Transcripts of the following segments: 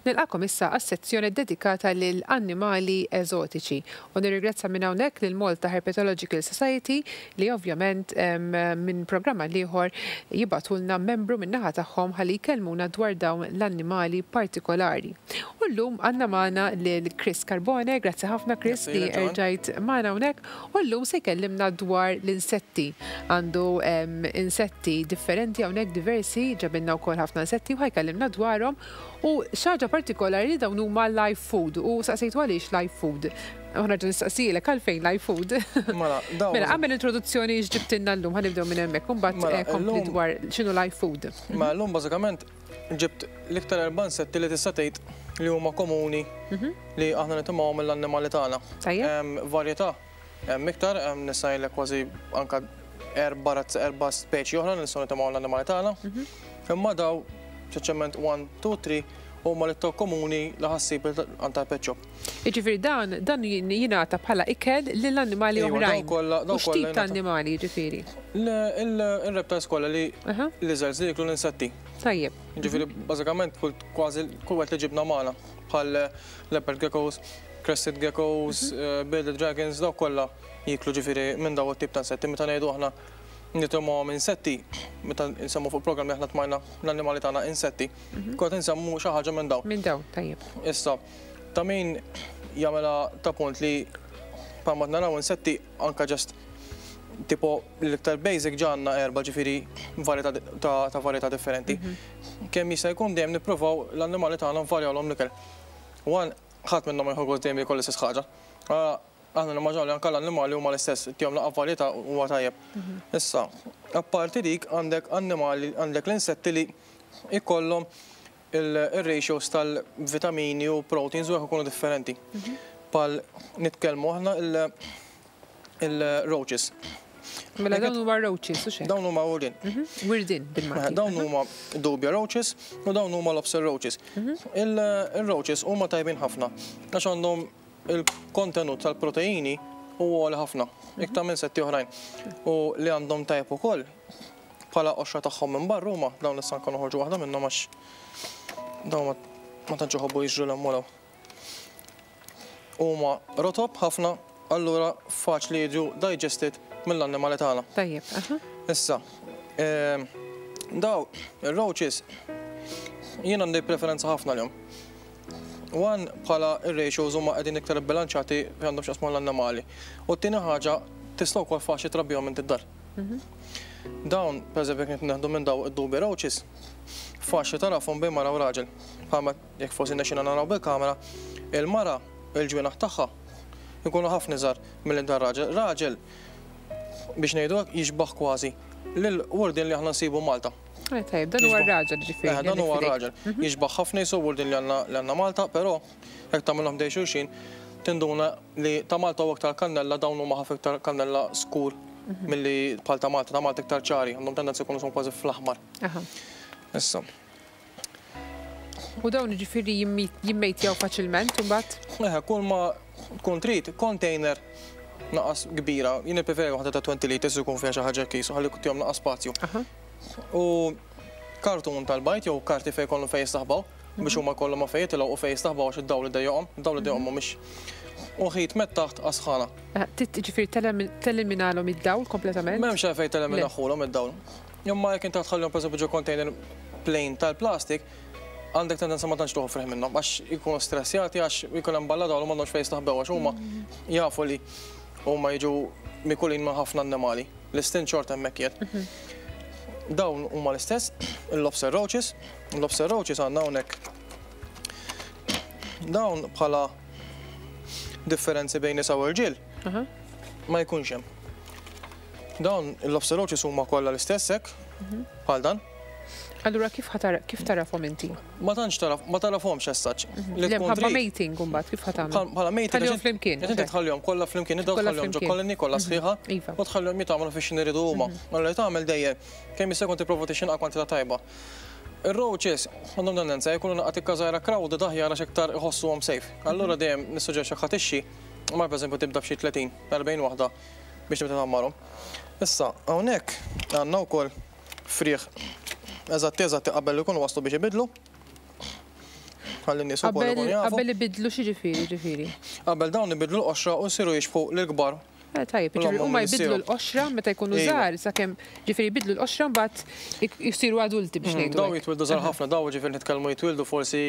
Nilqagħkom issa għas-sezzjoni ddedikata lil annimali eżotiċi u nirringrazzja minn hawnhekk lil Malta Herpetological Society li ovvjament minn programm għal ieħor jibagħtulna membru min-naħa tagħhom ħalli jkellmuna dwar dawn l-annimali partikolari. U llum għandna magħna lil Chris Carbone, grazzi ħafna Chris li erġajt magħna hawnhekk u llum se jkellimna dwar l-insetti. Għandu insetti differenti hawnhekk diversi, ġabilna wkoll ħafna insetti u ħa jkellimna dwarhom. U xi ħaġa partikolari li dawn huma live food u saqsejtu għaliex live food. U nerġa' nistaqsilek għalfejn live food. Mela, dawn. Mela, għamel introduzzjoni x'ġibtilna llum, ħa nibdew minn hemmhekk u mbagħad Mela, kompli illum- dwar x'inhu live food. Ma llum bażikament ġibt l-iktar erba' insetti li tista' tgħid li huma komuni li aħna nitimgħu mill-annimali tagħna. Tajjeb. Hemm varjetà, hemm iktar, hemm nista' ngħidlek kważi anka erba' razz erba' speċi oħra li nistgħu nitimgħu l-annimali tagħna. Imma daw speċjalment 1, 2, 3 huma l-iktar komuni li ħa ssib għand tal-pet shop. Jiġifieri dan jingħata bħala ikel lill-annimali Iva, dawn oħrajn. kollha U dawn x'tip kollha ta' jingħata. annimali jiġifieri? Il-reptiles kollha li lizards li jieklu l-insetti. Tajjeb. Ġifieri bażikament kull kważi kull wieħed li ġibna magħna bħal leopard geckos, crested geckos, bearded dragons, dawk kollha jieklu ġifieri minn dawn it-tip ta' insetti. Meta ngħidu aħna nitimgħu insetti, meta nsemmu fuq programm li aħna tmajna l-annimali tagħna insetti, kont insemmu xi ħaġa minn dawn. Minn dawn, tajjeb. Issa, ta' min jagħmilha ta' punt li bħalma naraw insetti anka just tipo l-iktar basic ġanna erba' ġifieri varjetà ta' varjetà differenti. Kemm jista' jkun dejjem nippruvaw l-annimali tagħna nvarjawlhom l-ikel. One, ħadd minnhom ma jieħu gost dejjem jiekol l-istess ħaġa. Aħna nimmaġinaw li anke l-annimali huma l-istess, tihom laqgħa varjetà huwa tajjeb. Issa, apparti dik għandek annimali, għandek l-insetti li jkollhom il-ratios tal-vitamini u proteins u hekk ikunu differenti. Bħal nitkellmu aħna il-roaches. Mela dawn huma roaches u xejn. Dawn huma wirdin. Wirdin bil-Malti. Dawn huma dubia roaches u dawn huma lobster roaches. Il-roaches huma tajbin ħafna għax għandhom il-kontenut tal-proteini huwa għoli ħafna, iktar minn insetti oħrajn. U li għandhom tajb ukoll bħala qoxra tagħhom minn barra huma dawn issa nkunu noħorġu waħda minnhom għax dawn ma tantx iħobbu jiġru l Huma rotob ħafna, allura faċli jiġu digested mill-annimali tagħna. Tajjeb, aha. Issa, daw ir-roaches jien għandi preferenza ħafna lilhom. One, bħala ir-ratios huma qegħdin iktar bilanċati fejn għandhom x'jaqsmu l-annimali. U t-tieni ħaġa tista' wkoll faċli trabbihom inti d-dar. Dawn, pereżempju, jekk nieħdu minn daw id-dubia roaches, faċli tarafhom bejn mara u raġel. Bħalma jekk forsi nexxina naraw bil-kamera, il-mara il-ġwienaħ tagħha jkunu ħafna iżgħar milli dar raġel. Raġel biex ngħidu hekk jixbaħ kważi lil wurdin li aħna nsibu Malta. Tajjeb, dan huwa r-raġel ġifieri. Dan huwa r-raġel. Jixbaħ ħafna jisu wurdin li għandna Malta, però jekk tagħmilhom ħdejn xulxin tinduna li ta' Malta huwa iktar kannella, dawn huma ħafna iktar kannella skur milli bħal ta' Malta, ta' Malta iktar ċari, għandhom tendenza jkunu son kważi fl-aħmar. Issa. U dawn ġifieri jimmejtjaw faċilment imbagħad? Eħe, kull ma tkun trid container naqas kbira, jien nippreferi waħda ta' 20 liters ikun fiha xi ħaġa kisu ħalli tihom naqas spazju. U kartun tal-bajd jew karti fejn jkollhom fejn jistaħbaw biex huma jkollhom ma fejn jitilgħu u fejn jistaħbaw għax id-dawl idejjaqhom, id-dawl idejjaqhom mhumiex. U ħit met taħt għas-sħana. Ġifieri teliminalhom id-dawl kompletament? M'hemmx għalfejn teliminaħulhom id-dawl. Imma jekk inti tħallihom pereżempju ġo container plain tal-plastik, għandek tendenza ma tantx tieħu friħ minnhom għax ikunu stressjati għax ikun hemm balla dawl u m'għandhomx fejn jistaħbew għax huma jafu li huma jiġu mikulin minn ħafna annimali. L-istint xorta hemmhekk qiegħed. Dawn huma l-istess, il-lobster roaches. Il-lobster roaches għandna hawnhekk. Dawn bħala differenzi bejn nisa u rġiel ma jkunx hemm. Dawn il-lobster roaches huma kollha l-istess hekk, bħal dan. Allura kif tarafhom inti? Ma tantx taraf, ma tarafhomx as such. Li Le, tkun mħabba trid. mating imbagħad kif ħa tagħmel? Bħala mating, Tħallihom għax flimkien, inti ok. tħallihom kollha flimkien, id Kollha tħallihom ġo flimkien. colony kollha sħiħa u tħallihom jitgħamlu fiex iridu huma. Allura li tagħmel dejjem kemm jista' jkun tipprova tixxinqa kwantità tajba. Ir-roaches għandhom tendenza jkunu naqgħa tikka żgħira crowded aħjar għax iktar iħossuhom safe. Allura dejjem nissuġġerixxi ħa tixxi, ma pereżempju tibda b'xi 30, 40 waħda biex tibda tgħammarhom. Issa hawnhekk għandna wkoll frieħ eżatti eżatti qabel li jkunu waslu biex ibidlu. Ħalli n-nies ukoll ikunu jafu. Qabel ibidlu x'jiġifieri ġifieri? Qabel dawn ibidlu l-qoxra u jsiru jixbħu lill-kbar. Eh tajjeb, jiġifieri huma jbiddlu l-qoxra meta jkunu żgħar sakemm ġifieri jbiddlu l-qoxra mbagħad jsiru adulti biex ngħidu. Dawn jitwieldu żgħar ħafna, dawn ġifieri nitkellmu jitwieldu forsi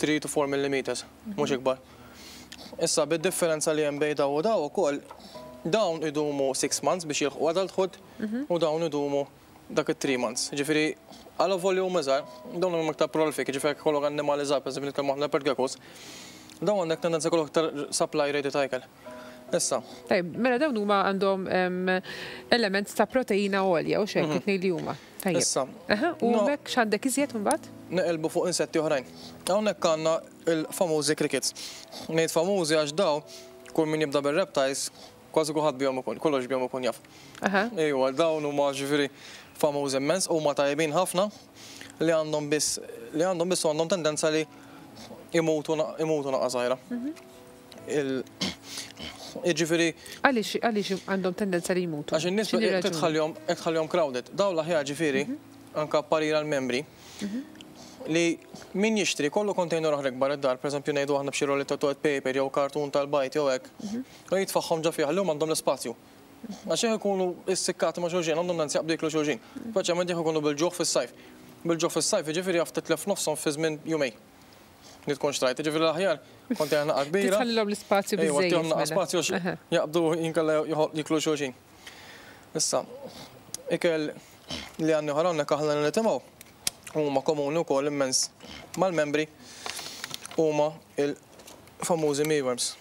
3 to 4 millimeters, mhux ikbar. Issa bid-differenza li hemm bejn dawn u dawn ukoll, dawn idumu 6 months biex jilħqu adulthood u dawn idumu dak it-3 months. Jiġifieri għal volume iżgħar, dawn huma iktar prolific, jiġifieri jekk ikollok annimali żgħar, pereżempju nitkellmu aħna leopard geckos, dawn għandek tendenza jkollok iktar supply rate ta' ikel. Issa. Tajjeb, mela dawn huma għandhom element ta' proteina għolja u x'hekk it-tnejn li huma. Tajjeb. Issa. U hemmhekk x'għandek iżjed imbagħad? Neqilbu fuq insetti oħrajn. Hawnhekk għandna l-famużi crickets. Ngħid famużi għax dawn kull min jibda bir-reptiles Kważi kulħadd bihom ikun, kollox bihom ikun jaf. Ejwa, dawn huma ġifieri famużi immens, huma tajbin ħafna li għandhom biss li għandhom biss għandhom tendenza li imutu imutu naqa' żgħira. Jiġifieri. Għaliex għaliex għandhom tendenza li jmutu? Għax in-nies tħallihom tħallihom crowded. Dawn l-aħjar ġifieri anke parir għall-membri li min jixtri jkollu container oħra ikbar id-dar, pereżempju ngħidu aħna b'xi rolli ta' toilet paper jew kartun tal-bajd jew hekk, U jitfagħhom ġo fih ħalli huma għandhom l-ispazju. Għax jekk ikunu issikkati ma' xulxin għandhom tendenza jaqbdu jieklu xulxin. Speċjalment jekk ikunu bil-ġuħ fis-sajf. Bil-ġuħ fis-sajf jiġifieri jaf titlef nofshom fi żmien jumejn li tkun xtrajt. Jiġifieri l-aħjar container naqa' kbira. Tħallilhom l-ispazju biżżejjed. Ejwa, tihom naqa' spazju għax jaqbdu inkella jieklu xulxin. Issa, ikel li għandna ieħor hawnhekk aħna li nitimgħu huma komuni wkoll immens mal-membri huma il-famużi mealworms.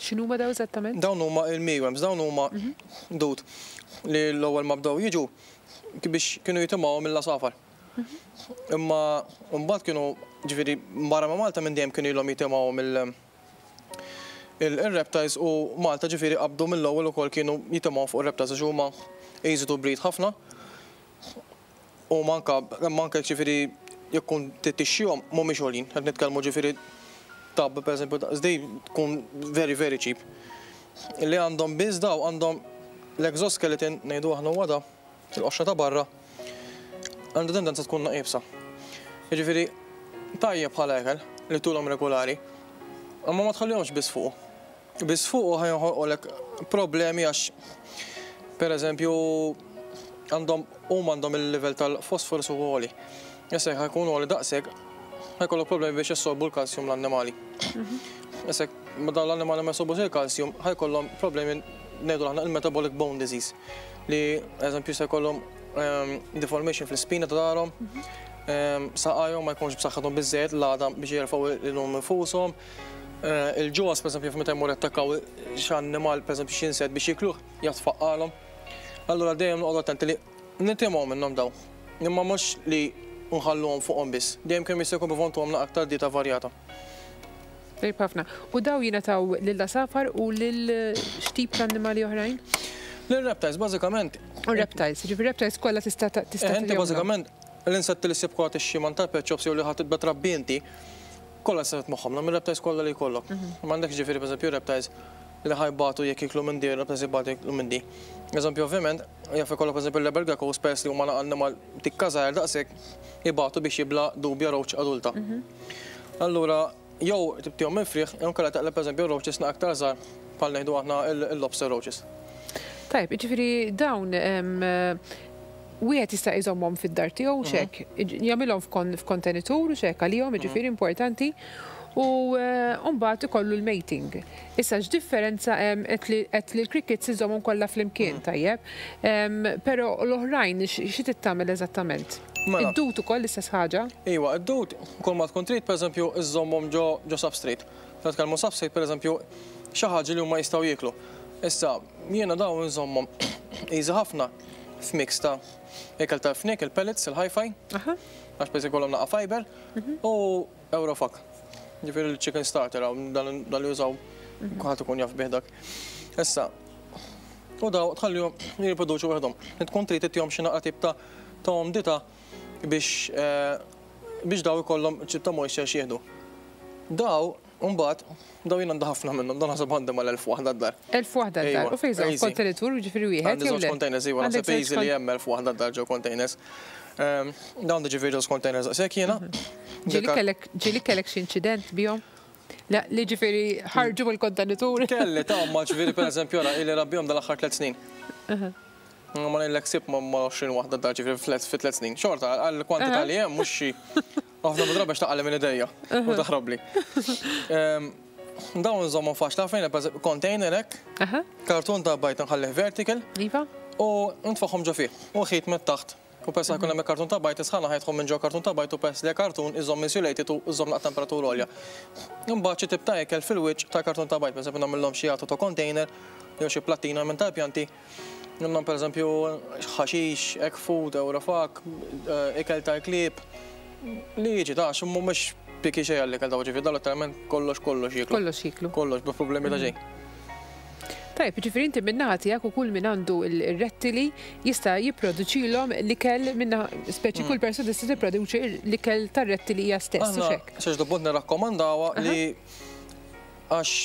X'inhuma dawn eżattament? Dawn huma il-mealworms, dawn huma dud li l-ewwel ma bdew jiġu biex kienu jitimgħu mill-għasafar. Imma mbagħad kienu ġifieri barra minn Malta minn dejjem kienu ilhom jitimgħu mill il-reptiles u Malta ġifieri qabdu mill-ewwel ukoll kienu jitimgħu fuq ir-reptiles għax huma easy to breed ħafna. Huma anke, imma anke jiġifieri jekk tkun trid tixtrihom mhumiex għoljin. Qed nitkellmu ġifieri tub pereżempju daqs din tkun very very cheap. Li għandhom biss daw għandhom l-exoskeleton ngħidu aħna huwa da, il-qoxra ta' barra, għandha tendenza tkun iebsa. Jiġifieri tajjeb bħala ikel li tulhom regolari, imma ma tħallihomx biss fuqu. Biss fuqu ħa joħolqolek problemi għax pereżempju għandhom huma għandhom il-livell tal-fosforus huwa għoli. Issa jekk ħa jkun għoli daqshekk ħa jkollok problemi biex jassorbu l-kalsjum l-annimali. Issa jekk dawn l-annimali ma jassorbux il-kalsjum ħa jkollhom problemi ngħidu aħna il-metabolic bone disease li eżempju jista' jkollhom deformation fl-ispina ta' darhom, saqajhom ma jkunx b'saħħithom biżżejjed l-għadam biex jerfgħu lilhom infushom. Il-ġuwas, pereżempju, meta jmur jattakkaw xi annimal, pereżempju xi insett biex jikluh, jatfaqqalhom. Allura dejjem noqogħdu attenti li nitimgħu minnhom dawn. Imma mhux li nħalluhom fuqhom biss. Dejjem kemm jista' jkun provaw ntuhom naqra aktar dieta varjata. Tajjeb ħafna. U dawn jingħataw lill-għasafar u lil x'tip ta' annimali oħrajn? Lil-reptiles, bażikament. U reptiles, jiġifieri reptiles kollha tista' tista' Eh, inti bażikament l-insetti li ssib kollha tixxi man tal-pet shops jew li ħadd tibda trabbi inti, Kollha tista' titmagħhom, nagħmel reptiles kollha li jkollok. M'għandekx ġifieri pereżempju reptiles li ħa jbatu jekk jieklu minn di, reptiles jbatu jekk jieklu minn di. Eżempju ovvjament, jaf ikollok pereżempju l-leopard geckos peress li huma annimal tikka żgħir daqshekk ibatu biex jibla' dubja roach adulta. Allura jew tibtihom minn frieħ jew inkella taqleb pereżempju roaches aktar żgħar bħal ngħidu aħna l-lobster roaches. Tajjeb, jiġifieri dawn Wieħed jista' jżommhom fid-dar tiegħu hux hekk? Jagħmilhom f'kontenitur hux hekk għalihom jiġifieri importanti u mbagħad ikollu l-mating. Issa x'differenza hemm għedt li għedt li l-crickets iżommhom kollha flimkien tajjeb. Però l-oħrajn xi trid tagħmel eżattament? Mela. Id-dud ukoll l-istess ħaġa? Iwa, id-dud kull ma tkun trid pereżempju iżżommhom ġo ġo substrate. Meta nitkellmu substrate pereżempju xi ħaġa li huma jistgħu jieklu. Issa jiena dawn inżommhom easy ħafna f'mix ta' ikel tal-fniek, il-pellets, il-hi-fi, għax biex ikollhom naqa' fiber, u Eurofak. Ġifieri l-chicken starter hawn dan li jużaw kulħadd ikun jaf bih dak. Issa, u daw tħallihom jirriproduċu waħedhom. Tkun trid ittihom xi naqra tip ta' ta' umdità biex biex daw ikollhom ċip ta' moisture x'jieħdu. Daw Imbagħad, dawn jien għandi ħafna minnhom, dawn naħseb għandi mal-1000 waħda d-dar. 1000 waħda d-dar. U fejn żomm? F'kontenitur, jiġifieri wieħed jew le? Għandi żewġ containers, iva, naħseb easy li hemm 1000 waħda d-dar ġo containers. Dawn ġifieri ġo containers daqshekk jiena. Ġieli kellek xi inċident bihom? Li ġifieri ħarġu mill-kontenitur? Kelli ta' ma ġifieri pereżempju ara ili nrabbihom dal-aħħar 3 snin. Ma ngħidlek sib ma 20 waħda dar ġifieri fi 3 snin. Xorta għall-kwantità li hemm mhux xi ħafna mid-drabi għax taqali minn idejja u taħrobli. Dawn nżommhom faċli ħafna jiena container hekk, kartun ta' bajd nħallih vertical. Iva. U nitfagħhom ġo fih. U ħit minn taħt. U peress li ħa jkun hemm il-kartun ta' bajd, is-sħana ħa jidħol minn ġo kartun ta' bajd u peress li kartun iżomm insulated u iżomm naqra temperatura għolja. Imbagħad xi tip ta' ikel fil-wiċċ tal-kartun ta' bajd, pereżempju nagħmilhom xi għatu ta' container jew xi plattina minn tal-pjanti. Nagħmlhom pereżempju ħaxix, egg food, Eurofak, ikel tal-klieb, li jiġi ta' għax mhumiex picky xejn għall-ikel dawn ġifieri dawn letteralment kollox kollox jieklu. Kollox jieklu. Kollox, bla problemi ta' xejn. Tajjeb, jiġifieri inti min-naħa tiegħek u kull min għandu r-rettili jista' jipproduċilhom l-ikel min-naħa, speċi kull persuna tista' tipproduċi l-ikel tar-rettili hija stess, hux hekk? Aħna xi punt nirrakkomandawha li għax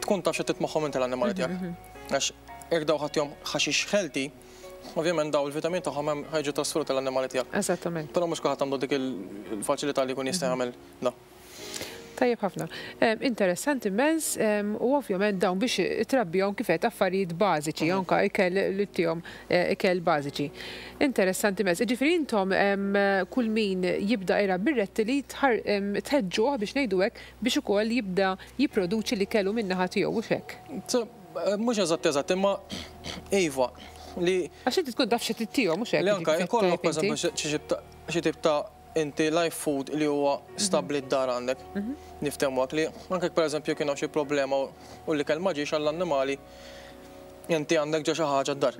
tkun taf x'qed titmagħhom inti l-annimali tiegħek. Għax jekk dawn ħa ttihom ħaxix healthy, ovvjament dawn il-vitamini tagħhom hemm ħa jiġu trasferuti l-annimali tiegħek. Eżattament. Però mhux kulħadd għandu dik il-faċilità li jkun jista' jagħmel dan. Tajjeb ħafna. Interessanti immens u ovvjament dawn biex trabbihom kif għedt affarijiet bażiċi, anke ikel li ttihom ikel bażiċi. Interessanti immens. Jiġifieri intom kull min jibda jrabbi r-rettili tħeġġuh biex ngħidu hekk biex ukoll jibda jipproduċi l-ikel hu min-naħa tiegħu, hux hekk? Mhux eżatt eżatt, imma iva li. Għax inti tkun taf xi tittihom, hux hekk? Li anke jkollok pereżempju xi tip ta' inti live food li huwa stabbli d-dar għandek. Niftehmu hekk li anke jekk pereżempju kien hawn xi problema u l-ikel ma ġiex għall-annimali, inti għandek ġa xi ħaġa d-dar.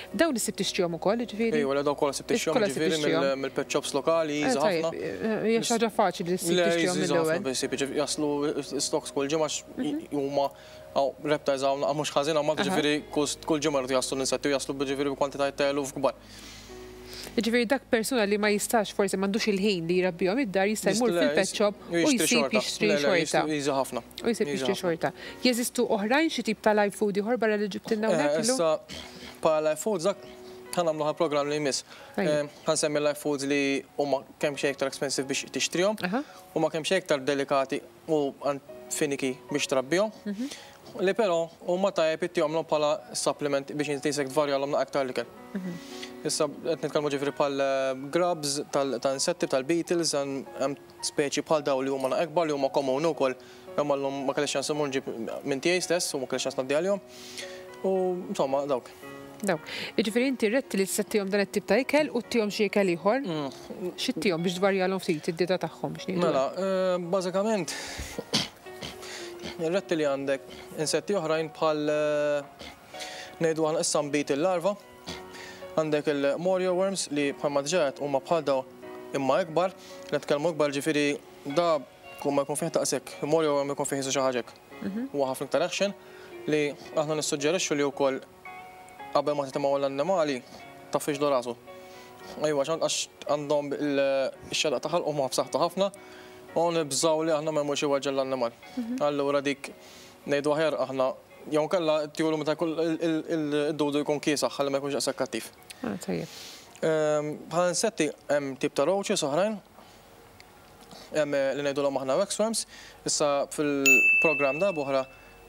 Dawn issib tixtrihom ukoll, jiġifieri? Ejwa, le dawn kollha ssib tixtrihom, jiġifieri mill-pet shops lokali, easy ħafna. Hija xi ħaġa faċli li ssib tixtrihom mill-ewwel. Le, easy ħafna jaslu stocks kull ġimgħa huma hawn reptiles hawn mhux ħażin hawn Malta, jiġifieri kull ġimgħa jridu jaslu l-insetti u jaslu jiġifieri bi kwantitajiet ta' eluf kbar. Jiġifieri dak persuna li ma jistax forsi m'għandux il-ħin li jrabbihom id-dar jista' jmur fil-pet shop u jsib jixtri xorta. Easy ħafna. U jsib jixtri xorta. Jeżistu oħrajn xi tip ta' live food ieħor barra li ġibtilna hawnhekk illum? Issa bħala live foods dak ħa nagħmlu ħal-programm li jmiss. Ħa nsemmi live foods li huma kemm xejn iktar expensive biex tixtrihom, huma kemm xejn iktar delikati u finiki biex trabbihom. Li però huma tajjeb ittihomlhom bħala supplement biex inti jisek tvarjalhom naqra iktar l-ikel. Issa qed nitkellmu ġifieri bħal grubs ta' insetti tal-beetles, hemm speċi bħal dawn li huma naqra ikbar li huma komuni wkoll imma llum ma kellix ċans immur nġib minn tiegħi stess u ma kellix ċans ngħaddi għalihom. U insomma dawk. Dawk. Jiġifieri inti r-rettili tista' ttihom dan it-tip ta' ikel u ttihom xi ikel ieħor? Xi ttihom biex tvarjalhom ftit id-dieta tagħhom biex ngħidu hekk? Mela, bażikament ir-rettili għandek insetti oħrajn bħal ngħidu aħna issa nbid il-larva, għandek il-morio worms li bħalma diġà għedt huma bħal dawn imma ikbar, li nitkellmu ikbar ġifieri da kull ma jkun fih daqshekk, il-morio worm ikun fih xi ħaġa hekk. Huwa ħafna iktar eħxen li aħna nissuġġerixxu li wkoll qabel ma titimgħu l-annimali taffiġlu rasu. Ejwa, għax għandhom il-xedaq ta' ħalqhom huwa b'saħħtu ħafna u nibżgħu li aħna ma jmurx iweġġa' l-annimal. Allura dik ngħidu aħjar aħna jew inkella tjulu meta jkun id-dudu jkun kiesaħ ħalli ma jkunx daqshekk kattiv. Ah, tajjeb. Bħala insetti hemm tip ta' roaches oħrajn, hemm li ngħidulhom aħna waxworms, issa fil-programm darb'oħra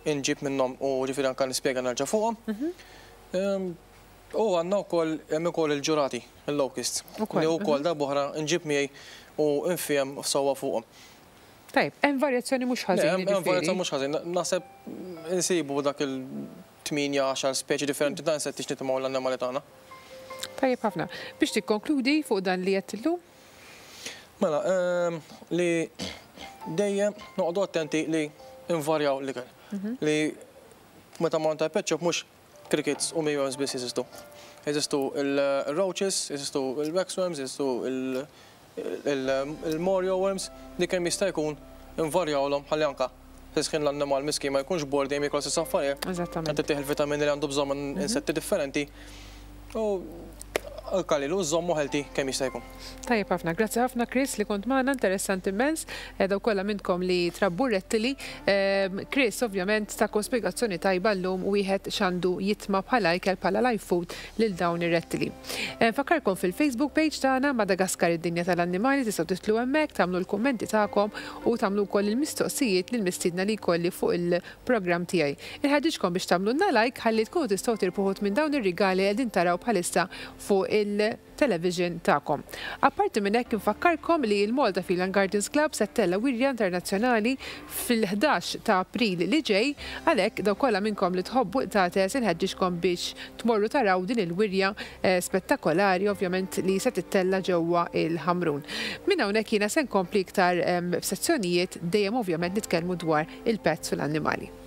inġib minnhom u ġifieri anke nispjega nerġa' fuqhom. U għandna wkoll hemm ukoll il-ġurati, il-locusts, li wkoll darb'oħra nġib miegħi u nfiehem sewwa fuqhom. Tajjeb, hemm varjazzjoni mhux ħażin. Hemm varjazzjoni mhux ħażin. Naħseb insibu dak il-8 10 speċi differenti ta' insetti x'nitimgħu l-annimali tagħna. Tajjeb ħafna. Biex tikkonkludi fuq dan li għedt illum? Mela, li dejjem noqogħdu attenti li nvarjaw l-ikel. Li meta mmorru għand tal-pet shop mhux crickets u mealworms biss jeżistu. Jeżistu il-roaches, jeżistu il-waxworms, jeżistu il-morio worms, li kemm jista' jkun invarjawlhom ħalli anke fl-istess ħin l-annimal miskin ma jkunx bored dejjem jiekol l-istess affarijiet. Eżattament. Qed ittih il-vitamini li għandu bżonn minn insetti differenti. U l-kalilu żommu healthy kemm jista' jkun. Tajjeb ħafna. Grazzi ħafna, Chris, li kont magħna, interessanti immens. Dawk kollha minnkom li trabbu rettili. Chris ovvjament takom spjegazzjoni tajba llum wieħed x'għandu jitma' bħala ikel, bħala live food lil dawn ir-rettili. Nfakkarkom fil-Facebook page tagħna, Madagaskar id-Dinja tal-Annimali, tistgħu tidħlu hemmhekk, tagħmlu l-kummenti tagħkom u tagħmlu wkoll il-mistoqsijiet lill-mistiedna li jkolli fuq il-programm tiegħi. Inħeġġiġkom biex tagħmlulna like ħalli tkunu tistgħu tirbħu wħud minn dawn ir-rigali li qegħdin taraw bħalissa fuq il-television tagħkom. Apparti minn hekk, infakkarkom li l-Malta Feline Gardens Club se ttella' wirja internazzjonali fil-11 ta' April li ġej, għalhekk dawk kollha minnkom li tħobbu qtates inħeġġiġkom biex tmorru taraw din il-wirja spettakolari ovvjament li se tittella' ġewwa il-Ħamrun. Minn hawnhekk jiena se nkompli iktar f'sezzjonijiet dejjem ovvjament nitkellmu dwar il-pets u l-annimali.